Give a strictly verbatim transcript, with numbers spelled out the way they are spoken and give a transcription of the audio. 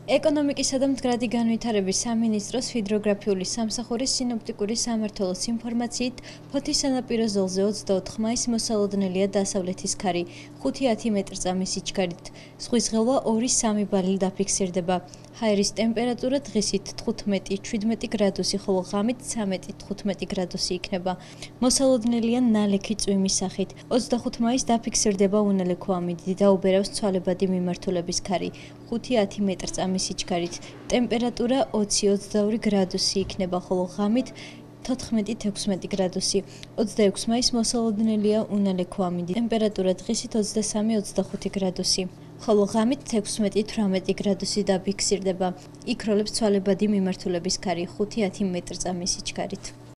ეკონომიკისა და მდგრადი განვითარების სამინისტროს ჰიდროგრაფიული სამსახურის სინოპტიკური სამმართველოს ინფორმაციით, ფოთის სანაპირო ზოლზე ოცდაოთხ მაისს მოსალოდნელია დასავლეთის ქარი, ხუთი ათი მეტრწამის სიჩქარით. ზღვის ღელვა ორი სამი ბალი დაფიქსირდება. ჰაერის ტემპერატურა დღისით თხუთმეტი შვიდმეტი გრადუსი, ხოლო ღამით ცამეტი თხუთმეტი გრადუსი იქნება. მოსალოდნელია ნალექი წვიმის სახით. ოცდახუთ მაისს დაფიქსირდება უნალექო ამინდით, დაუბერავს ცვალებადი მიმართულების ქარი, ხუთი ათი მეტრწამის სიჩქარით. ტემპერატურა ოცი ოცდაორი გრადუსი იქნება, ხოლო ღამით თოთხმეტი ექვსმეტი გრადუსი. ოცდაექვსი მაისს მოსალოდნელია უნალექო ამინდით. ტემპერატურა დღისით ოცდასამი ოცდახუთი გრადუსი. ხოლო ღამით ექვსმეტი თვრამეტი გრადუსი დაფიქსირდება. იქროლებს ცვალებადი მიმართულების ქარი, ხუთი ათი მეტრწამის სიჩქარით.